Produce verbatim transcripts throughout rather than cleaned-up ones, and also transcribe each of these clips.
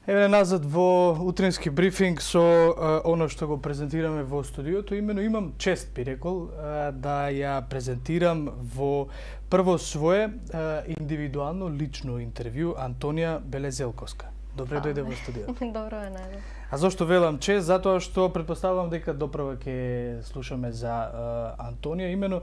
Еве назад во утрински брифинг со а, оно што го презентираме во студиото, имено имам чест, би рекол, а, да ја презентирам во прво свое а, индивидуално лично интервју Антонија Белезелковска. Добре дојде во студиото. Добро е, најде. А зошто велам чест? Затоа што претпоставувам дека доправа ќе слушаме за а, Антонија, имено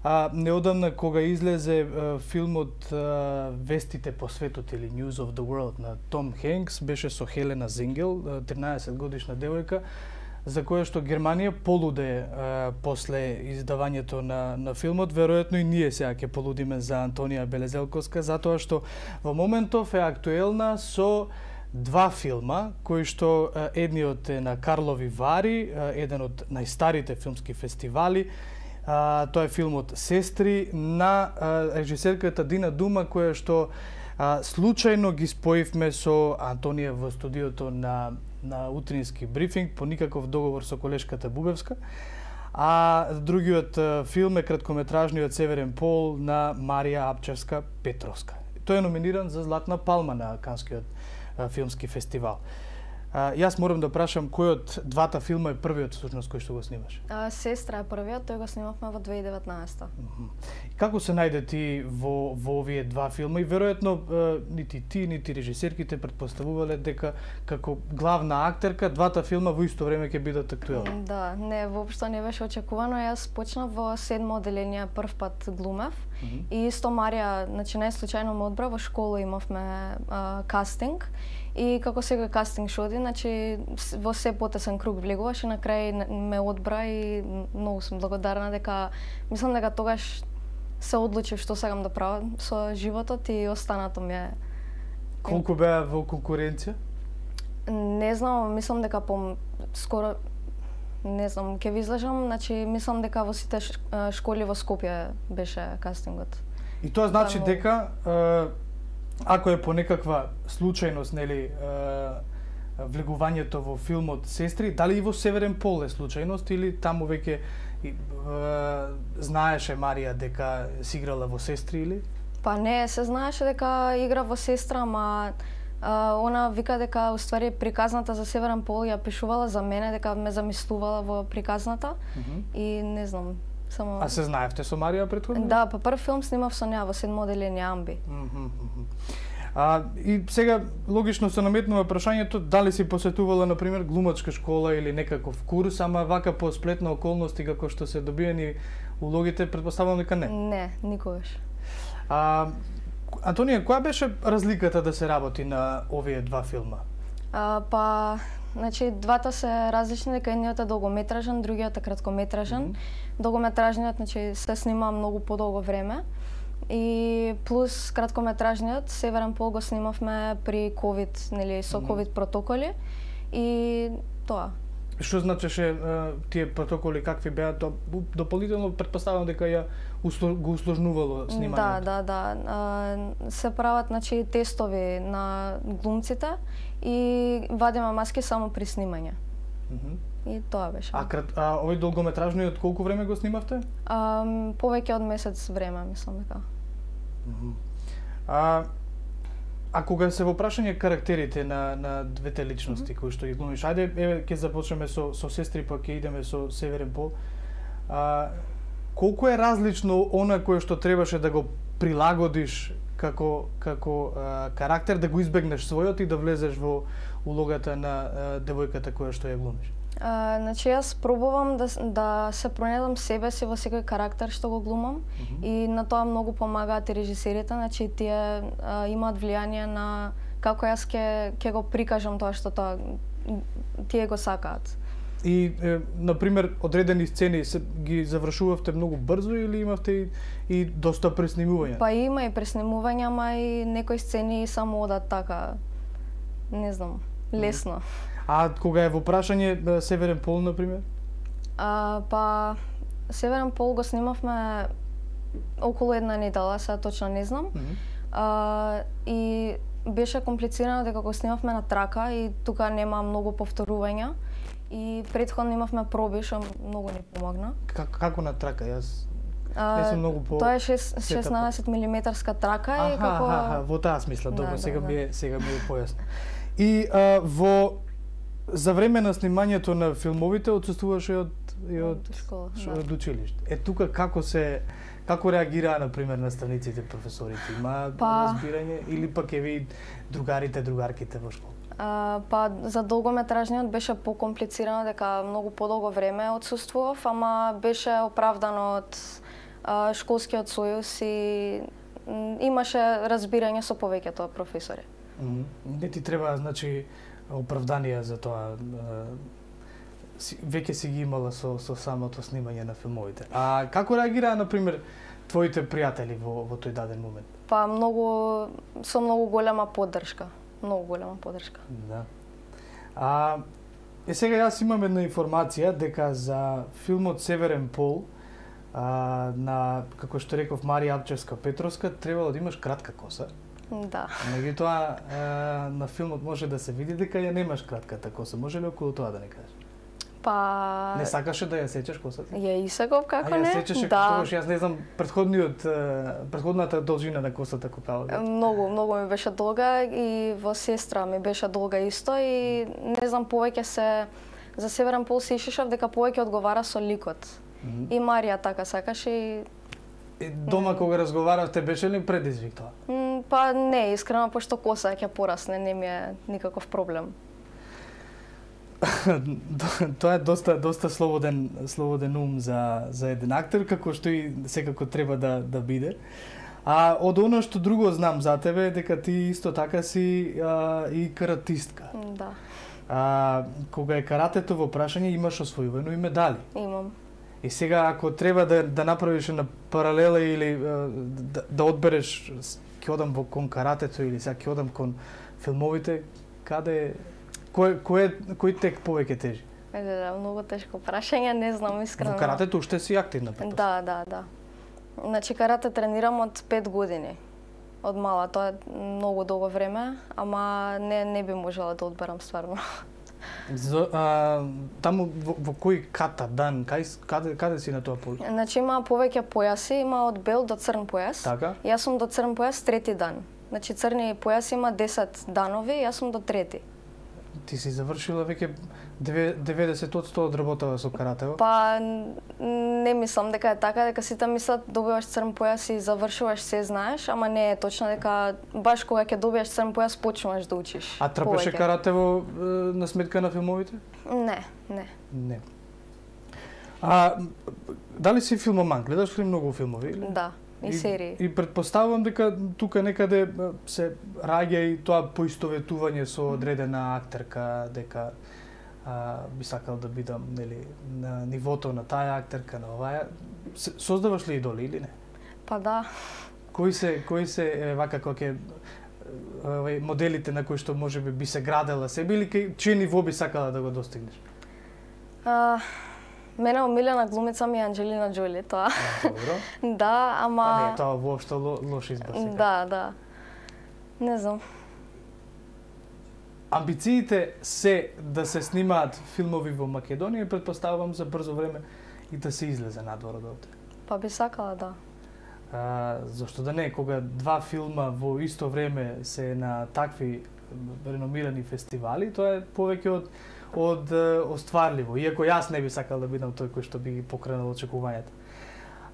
А, неодамна кога излезе а, филмот а, Вестите по светот или News of the World на Том Хенкс, беше со Хелена Зингел, тринаесет годишна девојка, за која што Германија полуде а, после издавањето на, на филмот. Веројатно и ние сега ќе полудиме за Антонија Белезелковска, затоа што во моментов е актуелна со два филма, кои што а, едниот е на Карлови Вари, а, еден од најстарите филмски фестивали. Uh, тоа е филмот Сестри на uh, режисерката Дина Дума, која што uh, случајно ги споивме со Антонија во студиото на, на утрински брифинг, по никаков договор со колешката Бубевска. А другиот uh, филм е краткометражниот Северен пол на Марија Апчевска Петровска. Тој е номиниран за Златна палма на Канскиот uh, филмски фестивал. А, јас морам да прашам кој од двата филма е првиот всушност кој што го снимаш? А, Сестра е првиот, тој го снимавме во две илјади и деветнаесета. Mm-hmm. Како се најде ти во, во овие два филма? И веројатно нити ти, нити режисерките претпоставувале дека како главна актерка двата филма во исто време ќе бидат актуелни. Да, не, воопшто не беше очекувано. Јас почнав во седмо одделение, прв пат глумев. Mm-hmm. И исто Марија, значи најслучајно ме одбра, во школа имавме а, кастинг. И како секој кастинг шо оди, значи во се потесен круг влегуваш и на крај ме одбра и многу сум благодарна дека мислам дека тогаш се одлучив што сакам да правам со животот и останато ми е. Колку беа во конкуренција? Не знам, мислам дека по скоро не знам, ќе ви излажам, значи мислам дека во сите школи во Скопје беше кастингот. И тоа значи дека ако е по некаква случајност, нели, влегувањето во филмот Сестри, дали и во Северен пол е случајност или таму веќе знаеше Марија дека си играла во Сестри или? Па не, се знаеше дека игра во Сестра, ама а, она вика дека уствари приказната за Северен пол ја пишувала за мене, дека ме замислувала во приказната. Mm-hmm. И не знам. Само... А се знаевте со Марија претходно? Да, па прв филм снимав со неа во седмо одделение Амби. Mm-hmm. А, и сега логично се наметнува прашањето дали си посетувала на пример глумачка школа или некаков курс, ама вака по сплетна околности како што се добиени улогите, претпоставувам дека не. Не, никогаш. А, Антонија, која беше разликата да се работи на овие два филма? А, па, значи двата се различни, дека едниот е долгометражен, другиот е краткометражен. Mm-hmm. Долгометражниот, значи се снима многу подолго време. И плюс краткометражниот Северен пол го снимавме при ковид, нели, со ковид протоколи и тоа. Што значеше тие протоколи, какви беа? Дополнително претпоставувам дека ја го усложнувало снимањето. Да, да, да. Се прават, значи, тестови на глумците и вадиме маски само при снимање. Mm-hmm. И тоа беше. А, крат, а овој долгометражниот колку време го снимавте? А, повеќе од месец време, мислам дека. Mm-hmm. А, а кога се во прашање карактерите на, на двете личности mm-hmm. кои што ги глумиш, ајде, еве, ќе започнеме со, со Сестри, па ќе идеме со Северен пол. А, колку е различно она кое што требаше да го прилагодиш како, како а, карактер, да го избегнеш својот и да влезеш во улогата на а, девојката која што ја глумиш? А, значи јас пробувам да, да се пронедам себе си во секој карактер што го глумам. Mm-hmm. И на тоа многу помагаат и режисерите, значи тие а, имаат влијание на како јас ќе ќе го прикажам тоа што тоа тие го сакаат. И, е, например, одредени сцени се, ги завршувавте многу брзо или имавте и, и доста преснимувања? Па има и преснимувања, ама и некои сцени само одат така, не знам, лесно. А кога е во прашање Северен пол, например? А, па, Северен пол го снимавме околу една недела, сега точно не знам. Mm-hmm. А, и беше комплицирано дека го снимавме на трака и тука нема многу повторувања. И претходно имавме проби, што многу ни помогна. Как, како на трака? Јас не сум многу по... Тоа е шеснаесет милиметарска трака. Аха, и како... аха, аха, во таа смисла. Добро, да, сега, да, ми е, сега ми е појасно. И а, во за време на снимањето на филмовите отсуствуваше од и од школа, шо, да. од училиште. Е тука како се како реагираа на пример наставниците, професорите? Има Па... разбирање или пак е ви другарите, другарките во школа? А, па за долгометражниот беше покомплицирано дека многу подолго време отсуствував, ама беше оправдано од а, школскиот сојуз и м, имаше разбирање со повеќето професори. Mm -hmm. Не ти треба, значи, оправданија за тоа. Си, веќе си ги имала со, со самото снимање на филмовите. А како реагираа, на пример, твоите пријатели во, во тој даден момент? Па многу, со многу голема поддршка. Многу голема поддршка. Да. А, е сега јас имам една информација дека за филмот Северен пол а, на, како што реков, Марија Апчевска Петровска, требало да имаш кратка коса. Да. Меѓутоа, на филмот може да се види дека ја немаш кратката коса. Може ли околу тоа да не кажеш? Па... Не сакаше да ја сечеш косата? Ја исаков, како а, не? А ја сечеше да. тогаш, јас не знам, предходниот, предходната должина на косата кога? Многу, многу ми беше долга и во сестра ми беше долга исто и не знам, повеќе се за Северен пол се ишишав дека повеќе одговара со ликот. Mm -hmm. И Марија така сакаше и И дома кога разговаравте беше ли предизвик тоа? М, па не, искрено, пошто коса ќе порасне, не ми е никаков проблем. Тоа е доста доста слободен слободен ум за за еден актер, како што и секако треба да да биде. А од оно што друго знам за тебе е дека ти исто така си а, и каратистка. Да. А кога е каратето во прашање, имаш освојувано и медали. Имам. И сега ако треба да да направиш на паралела или да, да одбереш ќе одам во кон каратето или сега ќе одам кон филмовите, каде кој кој кој тек повеќе тежи? Е, да, да, многу тешко прашање, не знам искрено. Во каратето уште си активна, Да, да, да. Значи карате тренирам од пет години. Од мала, тоа е многу долго време, ама не не би можела да одберам стварно. За, а, таму во, во кој ката дан, кај каде каде си на тоа поле? Значи има повеќе појаси, има од бел до црн појас. Така? Јас сум до црн појас трети дан. Значи црни појас има десет данови, јас сум до трети. Ти си завршила веќе деветдесет одсто од работава со каратево? Па не мислам дека е така, дека сите мислат добиваш црн појас и завршуваш се знаеш, ама не е точно дека баш кога ќе добиеш црн појас почнуваш да учиш. А трпеше каратево на сметка на филмовите? Не, не. Не. А дали си филмоман? Гледаш ли многу филмови? Или? Да, и, и серии. И предпоставувам дека тука некаде се раѓа и тоа поистоветување со одредена актерка, дека а, би сакал да бидам, нели, на нивото на таа актерка, на оваа. Создаваш ли идоли или не? Па да. Кои се кои се е, вака кога ќе овај моделите на кои што можеби би се градела себе или кај чие ниво би сакала да го достигнеш? А, мене омилена глумица ми е Анџелина Џоли, тоа. А, добро. Да, ама... Па не, тоа воопшто ло, лош избор сега. Да, да. Не знам. Амбициите се да се снимаат филмови во Македонија и предпоставувам за брзо време и да се излезе надвор од овде. Па би сакала, да. А, зашто да не, кога два филма во исто време се на такви реномирани фестивали, тоа е повеќе од од остварливо, иако јас не би сакал да бидам тој кој што би ги покренал очекувањата.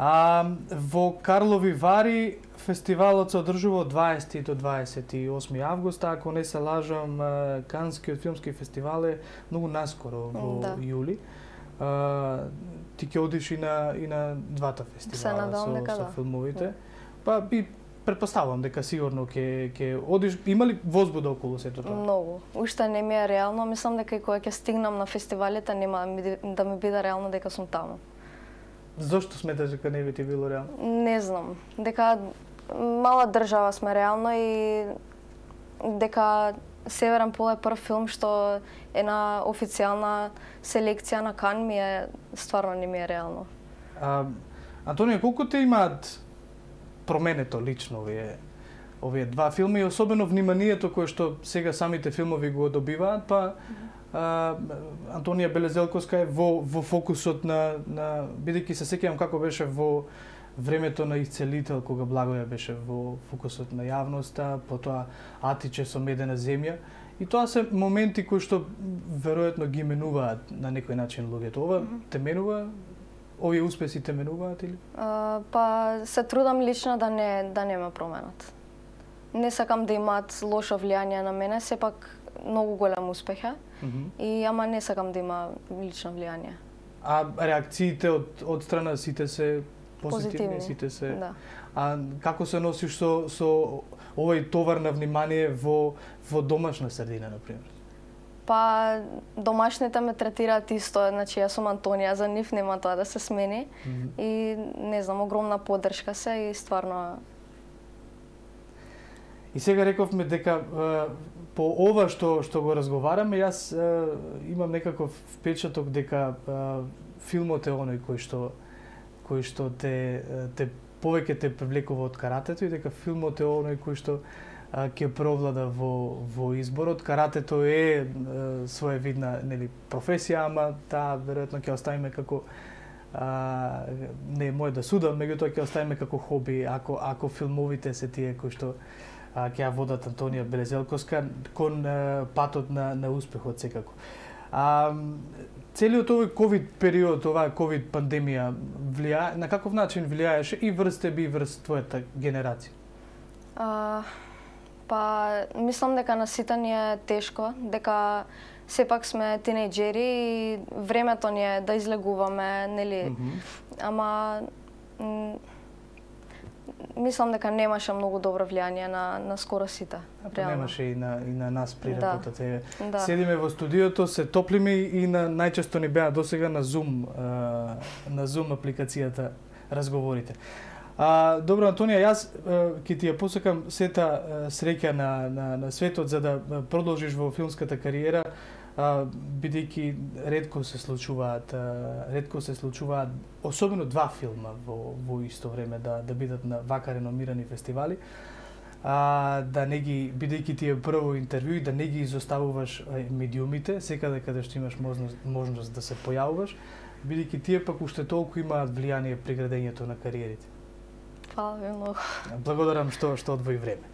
А, во Карлови Вари фестивалот се одржува од дваесети до дваесет и осми август, ако не се лажам, Канскиот филмски фестивал е многу наскоро во да. јули. А, ти ќе одиш и на и на двата фестивала со, дека, со да. филмовите. Па би претпоставувам дека сигурно ќе ќе одиш. Има ли возбуда околу сето тоа? Многу. Уште не ми е реално, мислам дека и кога ќе стигнам на фестивалите нема да ми биде реално дека сум таму. Зошто сметаш дека не би ти било реално? Не знам. Дека мала држава сме реално и дека Северен пол е прв филм што е на официјална селекција на Кан ми е стварно не ми е реално. А, Антонија, колку те имаат променето лично овие овие два филми и особено вниманието кое што сега самите филмови го добиваат, па а, Антонија Белезелковска е во во фокусот на на бидејќи се сеќавам како беше во времето на Исцелител кога Благоја беше во фокусот на јавноста, потоа Атиче со Медена земја И тоа се моменти кои што веројатно ги менуваат на некој начин луѓето. Ова mm -hmm. те менува? Овие успеси те менуваат или? Uh, па се трудам лично да не да нема променат. Не сакам да имаат лошо влијание на мене, сепак многу голем успех е. Mm -hmm. И ама не сакам да има лично влијание. А реакциите од од страна сите се позитивни, позитивни. Сите се. Да. А како се носиш со со овој товар на внимание во во домашна средина на пример? Па домашните ме третираат исто, значи јас сум Антонија, за нив нема тоа да се смени. Mm -hmm. И не знам, огромна поддршка се и стварно. И сега рековме дека по ова што што го разговараме, јас имам некаков впечаток дека филмот е оној кој што кој што те те повеќе те привлекува од каратето и дека филмот е оној кој што ќе провлада во во изборот. Каратето е, е своевидна, нели, професија, ама таа веројатно ќе оставиме како а, не е мој да судам, меѓутоа ќе оставиме како хоби, ако ако филмовите се тие кои што а, ќе ја водат Антонија Белезелковска кон а, патот на на успехот секако. А, целиот овој ковид период, оваа ковид пандемија влијае, на каков начин влијаеше и врз тебе и врз твојата генерација? А, па мислам дека на сите ни е тешко, дека сепак сме тинејџери и времето ни е да излегуваме, нели? Mm -hmm. Ама мислам дека немаше многу добро влијание на на скоро сите. А немаше и на и на нас при работата. Да. Седиме во студиото, се топлиме и на најчесто ни беа досега на Zoom, а, на Zoom апликацијата разговорите. А, добро, Антонија, јас ќе ти ја посакам сета среќа на, на, на светот за да продолжиш во филмската кариера, а, бидејќи ретко се случуваат, а, ретко се случуваат, особено два филма во, во исто време да, да бидат на вака реномирани фестивали, а, да не ги, бидејќи ти е прво интервју и да не ги изоставуваш медиумите, секаде каде што имаш можност, можност да се појавуваш, бидејќи тие пак уште толку имаат влијание при градењето на кариерите. Фала ви многу. Благодарам што што одвои време.